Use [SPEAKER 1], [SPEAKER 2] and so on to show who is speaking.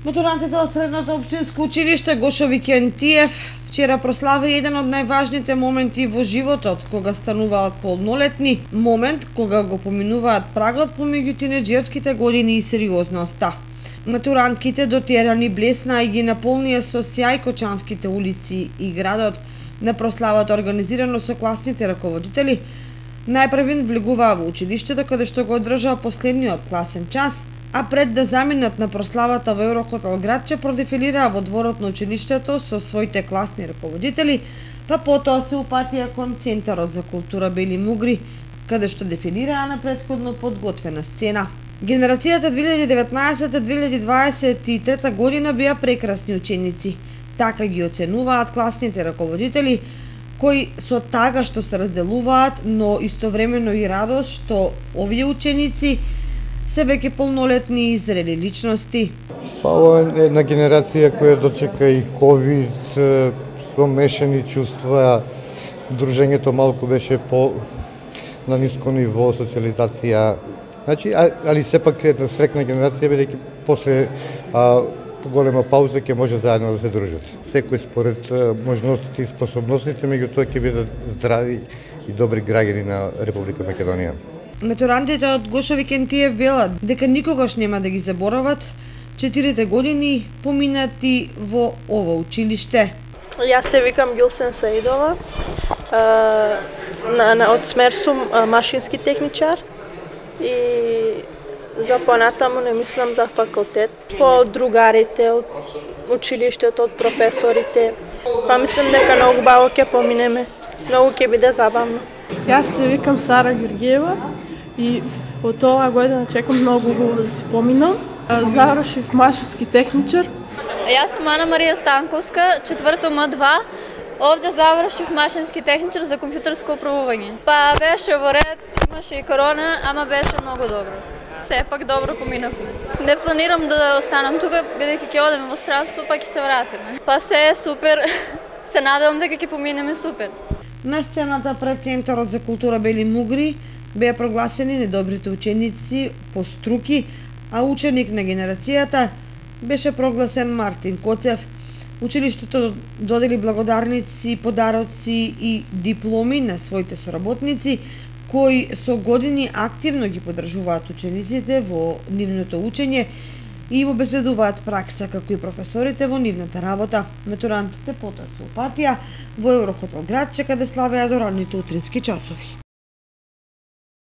[SPEAKER 1] Матурантите од Средното општинско училиште Гошо Викентиев вчера прослави еден од најважните моменти во животот, кога стануваат полнолетни, момент кога го поминуваат прагот помеѓу тинеџерските години и сериозноста. Матурантките дотерани блесна и ги наполнија со сјај кочанските улици и градот. На прославата организирано со класните раководители, најпрвен влегуваа во училиштето каде што го одржаа последниот класен час, а пред да заминат на прославата во Еврохотел Градче продефилираа во дворот на училиштето со своите класни раководители, па потоа се упатија кон Центарот за култура Бели Мугри, каде што дефилираа на претходно подготвена сцена. Генерацијата 2019-2023 година беа прекрасни ученици. Така ги оценуваат класните раководители, кои со тага што се разделуваат, но истовремено и радост што овие ученици се веќе полнолетни и зрели личности.
[SPEAKER 2] Ова е една генерација која дочека и ковид, со мешани чувства, дружењето малку беше на ниско ниво, социализација. Значи, али сепак е една срекна генерација, бидејќи после голема пауза ќе може заедно да се дружат. Секој според можностите и способностите, меѓутоа ќе бидат здрави и добри граѓани на Република Македонија.
[SPEAKER 1] Матурантите од Гошо Викентиев велат дека никогаш нема да ги заборават 4 години поминати во ова училиште.
[SPEAKER 3] Јас се викам Гилсен Саидова, од смер сум машински техничар и за понатаму не мислам за факултет. Од другарите, од училиштето, од професорите, па мислам дека многу баво ќе поминеме, многу ќе биде забавно.
[SPEAKER 4] Јас се викам Сара Георгиева и од оваа година чекам многу убаво да си поминам. Завршив машински техничар.
[SPEAKER 5] Јас сум Ана Марија Станковска, четврто М2. Овде завршив машински техничар за компјутерско управување. Па беше во ред, имаше и корона, ама беше многу добро. Сепак добро поминавме. Не планирам да останам тука, бидејќи ќе одеме во стравство, па ќе се вратиме. Па се е супер, се надевам дека ќе поминеме супер.
[SPEAKER 1] На сцената пред Центарот за култура Бели Мугри беа прогласени недобрите ученици по струки, а ученик на генерацијата беше прогласен Мартин Коцев. Училиштето додели благодарници, подароци и дипломи на своите соработници, кои со години активно ги поддржуваат учениците во нивното учење и им обезбедуваат пракса, како и професорите во нивната работа. Матурантите потоа се упатија во Еврохотел Градче, каде славеа до ранните утрински часови.